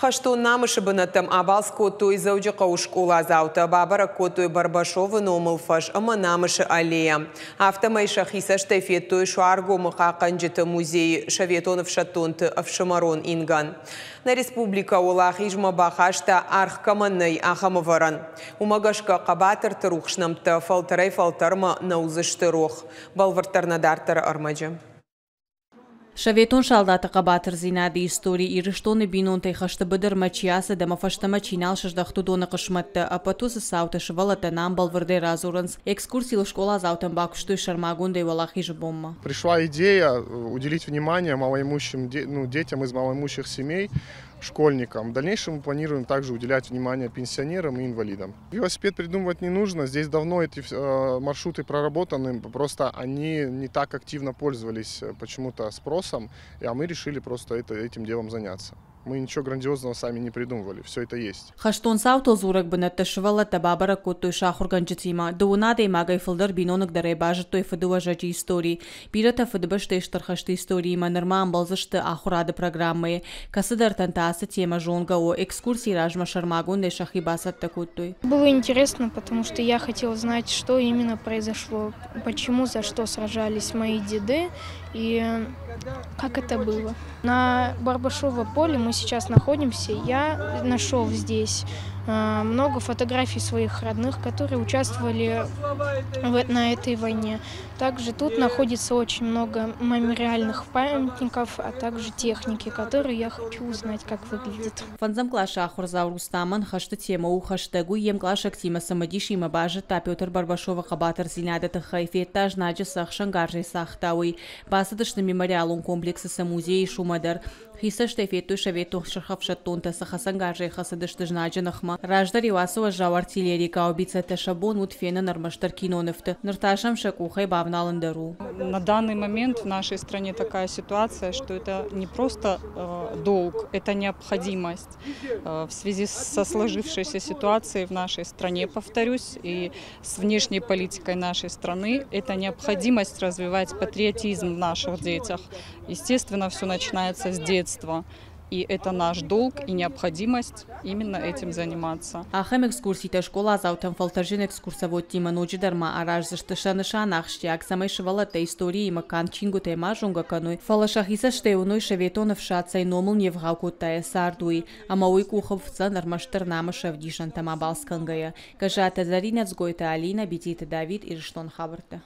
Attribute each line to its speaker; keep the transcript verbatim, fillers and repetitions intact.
Speaker 1: Хӕстон намысы бынӕттӕм абалц кодтой Дзӕуджыхъӕуы скъоладзаутӕ. Бабӕрӕг кодтой Барбашовы номыл фӕз ӕмӕ Намысы аллейӕ. Афтӕмӕй сӕхи цӕстӕй федтой Суаргомы хъахъхъӕнджыты музейы советон ӕфсӕддонты ӕфсымӕрон ингӕн. Нӕ республикӕ Уӕлахизмӕ бахаста, аргъ кӕмӕн нӕй, ахӕм ӕвӕрӕн. Уымӕ гӕсгӕ хъӕбатырты рухс нӕмттӕ фӕлтӕрӕй-фӕлтӕрмӕ нӕ уыдзысты рох. Бӕлвырддӕр нӕ дарддӕры ӕрмӕджы.
Speaker 2: Советон салдаты хъӕбатырдзинады истори, Ирыстоны бинонтӕй хӕсты быдырмӕ чи ацыд ӕмӕ фӕстӕмӕ чи нал сыздӕхт, уыдоны хъысмӕттӕ. Ӕппӕт уыцы цаутӕ сывӕллӕттӕн ам бӕлвырдӕй радзурынц. Экскурсийыл скъоладзаутӕн бакуыстой сӕрмагондӕй Уӕлахизы бонмӕ.
Speaker 3: Пришла идея уделить внимание малоимущим, ну, детям из малоимущих семей, школьникам. В дальнейшем мы планируем также уделять внимание пенсионерам и инвалидам. Велосипед придумывать не нужно, здесь давно эти э, маршруты проработаны, просто они не так активно пользовались э, почему-то спросом, а мы решили просто это, этим делом заняться. Мы ничего грандиозного сами не придумывали, все это есть.
Speaker 2: Хӕстон цаутыл дзурӕг бынӕттӕ сывӕллӕттӕ бабӕрӕг кодтой сӕ ахуыргӕнджытимӕ. Дыууын адӕймагӕй фылдӕр биноныгдӕрӕй базыдтой фыдыуӕзӕджы истори. Бирӕтӕ Фыдыбӕстӕйы Стыр хӕсты историимӕ нырма ӕмбӕлдзысты ахуырады программӕйы. Кӕцыдӕртӕн та ацы темӕ зонгӕ у. Экскурсийы размӕ сӕрмагондӕй сӕхи бацӕттӕ кодтой.
Speaker 4: Было интересно, потому что я хотела знать, что именно произошло, почему, за что сражались мои деды и как это было. На Барбашово поле мы сейчас находимся. Я нашел здесь э, много фотографий своих родных, которые участвовали в, на этой войне. Также тут находится очень много мемориальных памятников, а также техники, которые я хочу узнать, как выглядит.
Speaker 2: Фӕндзӕм къласы ахуырдзау Рустамӕн хӕсты темӕ у хӕстӕг. Уый йе мкъласӕгтимӕ цымыдисимӕ базыдта Петр Барбашовы хъӕбатырдзинады тыххӕй, федта, знаджы цы ӕхсӕнгарзӕй цагъта, уый. Бацыдысты мемориалон комплексы цы музей ис, уымӕ дӕр. Хи цӕстӕй федтой, советон сырхӕфсӕддонтӕ цы хӕцӕнгарзӕй хӕцыдысты знаджы ныхмӕ. Раздӕр-иу ацы уӕззау артиллерийы гаубицӕтӕ сӕ бон уыд фенын ӕрмӕстдӕр кинонывты. Ныр та сӕм сӕ къухӕй бавналын дӕр у.
Speaker 5: На данный момент в нашей стране такая ситуация, что это не просто э, долг, это необходимость. Э, в связи со сложившейся ситуацией в нашей стране, повторюсь, и с внешней политикой нашей страны, это необходимость развивать патриотизм в наших детях. Естественно, все начинается с детства. И это наш долг и необходимость именно этим заниматься.
Speaker 2: Ахӕм экскурситӕ скъоладзаутӕн фӕлтӕрджын экскурсоводтимӕ ноджыдӕр ма араздзысты. Сӕ нысан ахсджиаг, цӕмӕй сывӕллӕттӕ историимӕ канд чингуытӕй ма зонгӕ кӕной, фӕлӕ сӕхи цӕстӕй уыной, советон ӕфсад цӕй номыл не вгъау кодта йӕ цард, уый. Ӕмӕ уый къухы фтдзӕн ӕрмӕстдӕр намысы ӕвдисӕнтӕм абалц кӕнгӕйӕ. Гӕззаты Зӕринӕ, Дзгойты Алинӕ, Битеты Давид, Ирыстоны хабӕрттӕ.